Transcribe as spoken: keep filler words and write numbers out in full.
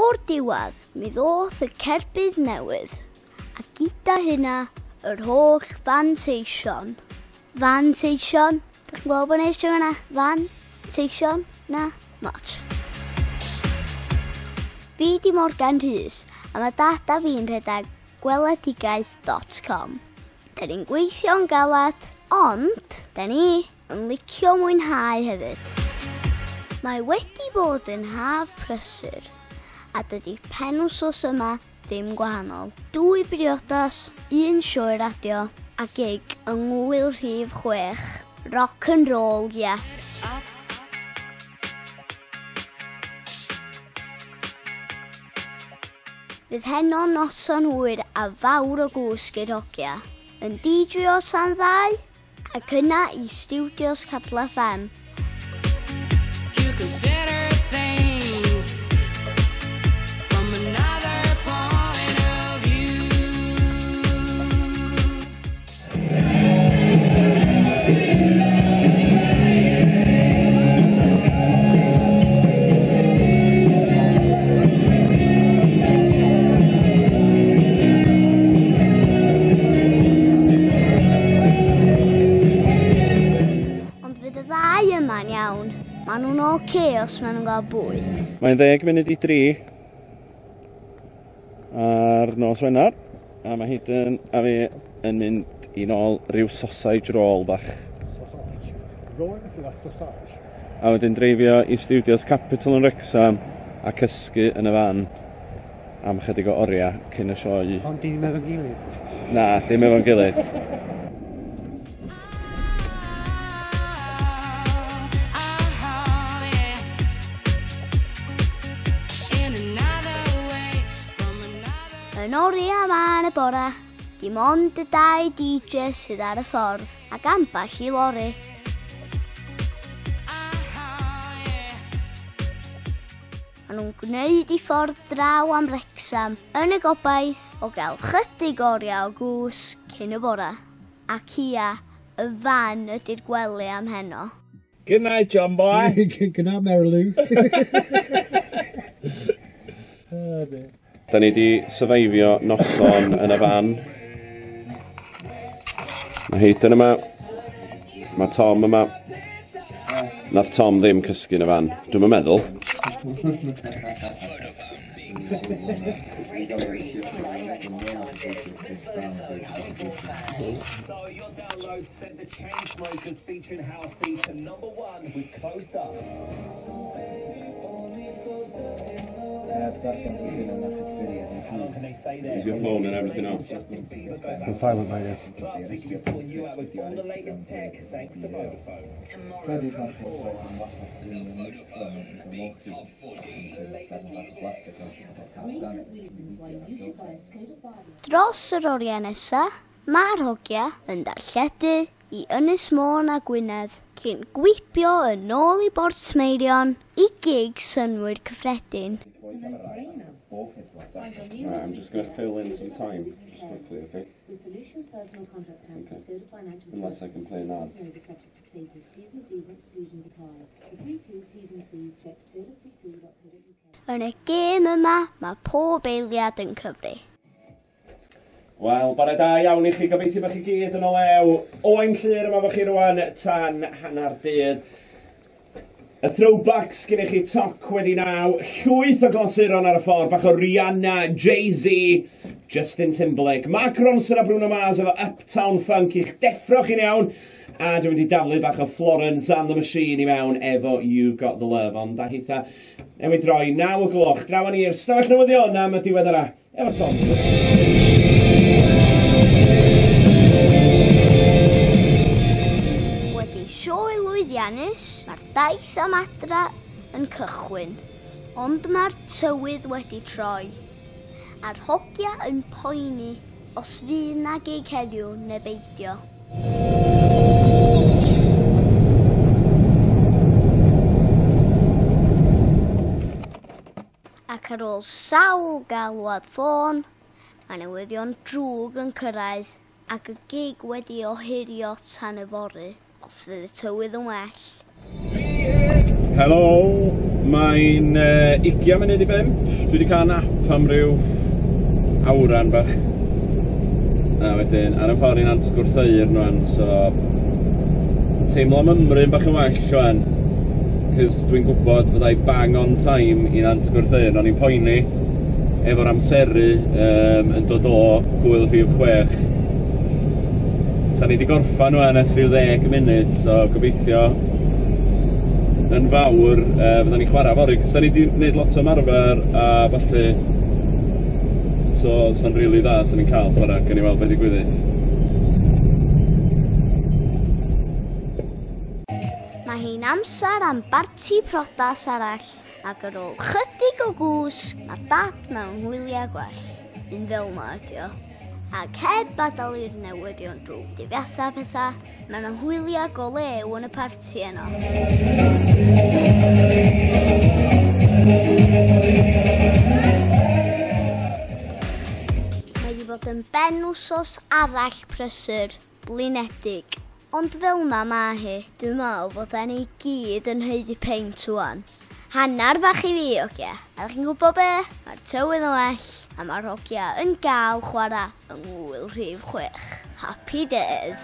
O'r diwedd, mi ddoth y cerbyd newydd, a gyda hynna, yr holl fanteision. Fanteision? Dych chi'n gweld bod neis yna? Fanteision? Na, much. Fi di Morgan Rhys, a mae dad a fi'n rhedeg gweledigaeth dot com. Da ni'n gweithio'n galad, ond da ni yn licio mwynhau hefyd. Mae wedi bod yn haf prysur, a dydy penwsos yma ddim gwahanol. Dwy briodas, un sioe radio, a gig yng ngwyl rhif chwech. Rock and roll, ie. Yeah. Fydd heno noson hwyr a fawr o gwsg i'r hogia. Yn D J o tan ddau, ac yna i Studios Capital F M. Maen nhw'n oce os maen nhw'n cael bwyd. Mae'n ddeg munud i dri ar nos Wener, a mae Hayden a fi yn mynd i nôl ryw sausage roll bach. A wedyn dreifio i Studios Capital yn Wrexham a cysgu yn y fan am chydig o oriau cyn y sioe. Ond dim efo'n gilydd? Na, dim efo'n gilydd. Yn oriau yma yn y bore, dim ond y dau D J sydd ar y ffordd ac ambell i lori. Maen nhw'n gwneud i ffordd draw am Wrexham yn y gobaith o gael chydig oriau o gwsg cyn y bore. Ac ia, y fan ydy'r gwely am heno. Good night, John boy. Good night, Mary Lou. Oh, dear. Da ni di syfeifio noson yn y fan. Mae Hayden yma, mae Tom yma. Nath Tom ddim cysgu yn y fan, dwi'm yn meddwl. Is your phone and everything else? I'm fine with my yes. Dros yr oriau nesaf, mae'r hogia yn darlledu i Ynys Môn a Gwynedd cyn gwibio yn ôl i Bortmeirion i gig synnwyr cyffredin. Right, I'm just going to fill in some time, just quickly, okay? Okay. Unless I can play an ad. Yn y gêm yma, mae pob eiliad yn cyfri. Wel, bore da iawn i chi, gobeithio bod chi gyd yn o lew. Owain Llyr yma fo chi rwan tan hanner dydd. Y throwbacks gyda chi toc wedi naw, llwyth o glasuron ar y ffordd, bach o Rihanna, Jay-Z, Justin Timberlake, Mark Ronson a Bruno Mars efo Uptown Funk i'ch deffro chi'n iawn. A dwi'n mynd i daflu bach o Florence and the Machine i mewn efo You Got The Love. Ond a hitha, newid droi, naw o gloch, draw ni i'r stafell newyddion am y diweddara efo Tom. Sioe lwyddiannus, mae'r daith am adra yn cychwyn, ond mae'r tywydd wedi troi, a'r hogia yn poeni os fydd na gig heddiw neu beidio. Ac ar ôl sawl galwad ffôn, mae newyddion drwg yn cyrraedd ac y gig wedi ohirio tan yfory, os fydd y tywydd yn well. Helo! Mae'n uh, ugian munud i bump. Dwi wedi cael nap am ryw awran bach. A wedyn, ar y ffordd i Nant Gwrtheyrn rwan, so teimlo mymryn bach yn well rwan. Cos dwi'n gwybod fyddai bang on time i Nant Gwrtheyrn. O'n i'n poeni efo'r amseru um, yn dod o gwyl rhif chwech. Sa ni wedi gorffan rwan ers rhyw ddeg munud, so gobeithio yn fawr uh, fydda ni'n chwarae fory, cos da ni wedi gwneud lot o ymarfer a falle, so sa'n rili dda sa'n ni'n cael chwarae, gawn ni weld beth digwyddith. Mae hi'n amser am barti priodas arall, ac ar ôl chydig o gwsg, mae Dad mewn hwyliau gwell. Un fel 'ma ydi o. Ac heb adael i'r newyddion drwg difetha pethau, mae yna hwyliau go lew yn y parti yno. Mae wedi bod yn ben wsos arall prysur, blinedig. Ond fel 'ma ma hi, dwi'n meddwl bod ni gyd yn haeddu peint ŵan. Hannar bach i fi, ogia. A ydych chi'n gwybod be? Mae'r tywydd yn well, a mae'r hogia yn gael chwarae yng ngwyl rhif chwech. Happy days!